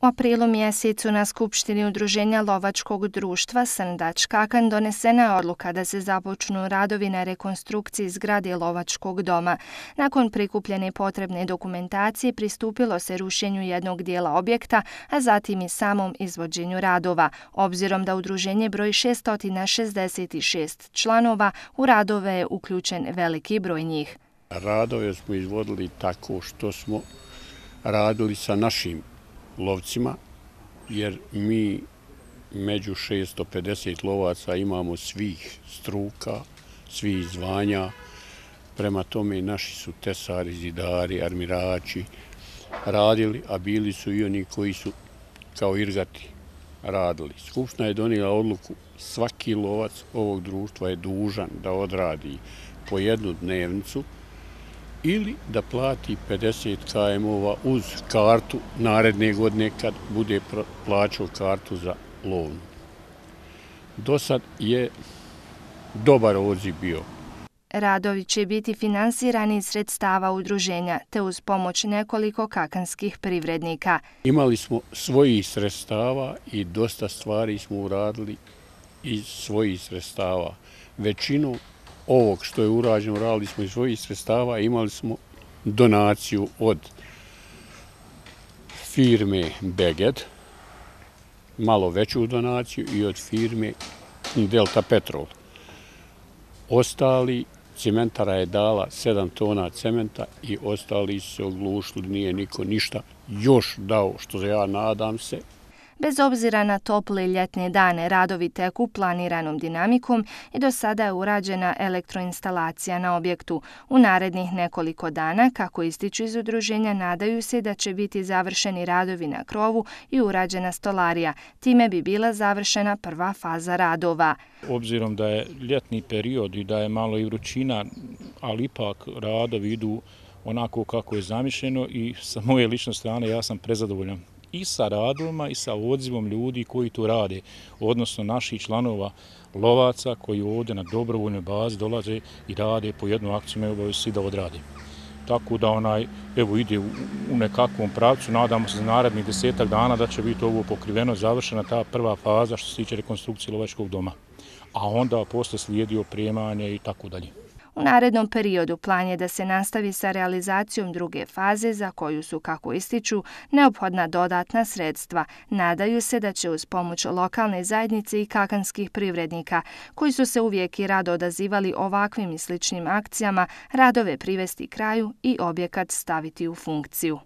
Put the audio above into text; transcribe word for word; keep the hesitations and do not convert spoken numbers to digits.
U aprilu mjesecu na Skupštini Udruženja lovačkog društva Srndač Kakan donesena je odluka da se započnu radovi na rekonstrukciji zgrade lovačkog doma. Nakon prikupljene potrebne dokumentacije pristupilo se rušenju jednog dijela objekta, a zatim i samom izvođenju radova. Obzirom da udruženje broji šesto šezdeset šest članova, u radove je uključen veliki broj njih. Radove smo izvodili tako što smo radili sa našim lovcima, jer mi među šesto pedeset lovaca imamo svih struka, svih zvanja. Prema tome naši su tesari, zidari, armirači radili, a bili su i oni koji su kao irgati radili. Skupština je donijela odluku, svaki lovac ovog društva je dužan da odradi po jednu dnevnicu ili da plati pedeset kajmova uz kartu naredne godine kad bude plaćao kartu za lovnu. Do sad je dobar odziv bio. Radovi će biti finansirani iz sredstava udruženja, te uz pomoć nekoliko kakanskih privrednika. Imali smo svojih sredstava i dosta stvari smo uradili iz svojih sredstava. Većinu ovog što je urađeno radili smo iz svojih sredstava, imali smo donaciju od firme Beged, malo veću donaciju, i od firme Delta Petrol. Ostali, cementara je dala sedam tona cementa i ostali su se oglušili, nije niko ništa još dao, što ja nadam se. Bez obzira na tople ljetne dane, radovi teku planiranom dinamikom i do sada je urađena elektroinstalacija na objektu. U narednih nekoliko dana, kako ističu iz udruženja, nadaju se da će biti završeni radovi na krovu i urađena stolarija. Time bi bila završena prva faza radova. Obzirom da je ljetni period i da je malo i vrućina, ali ipak radovi idu onako kako je zamišljeno i sa moje lične strane ja sam prezadovoljan i sa radovima i sa odzivom ljudi koji to rade, odnosno naših članova lovaca koji ovdje na dobrovoljnoj bazi dolaze i rade po jednu akciju, imaju obavezu svi da odrade. Tako da onaj, evo, ide u, u nekakvom pravcu, nadamo se za narednih desetak dana da će biti ovo pokriveno, završena ta prva faza što se tiče rekonstrukcije lovačkog doma, a onda posle slijedi opremanje i tako dalje. U narednom periodu plan je da se nastavi sa realizacijom druge faze za koju su, kako ističu, neophodna dodatna sredstva. Nadaju se da će uz pomoć lokalne zajednice i kakanskih privrednika, koji su se uvijek i rado odazivali ovakvim i sličnim akcijama, radove privesti kraju i objekat staviti u funkciju.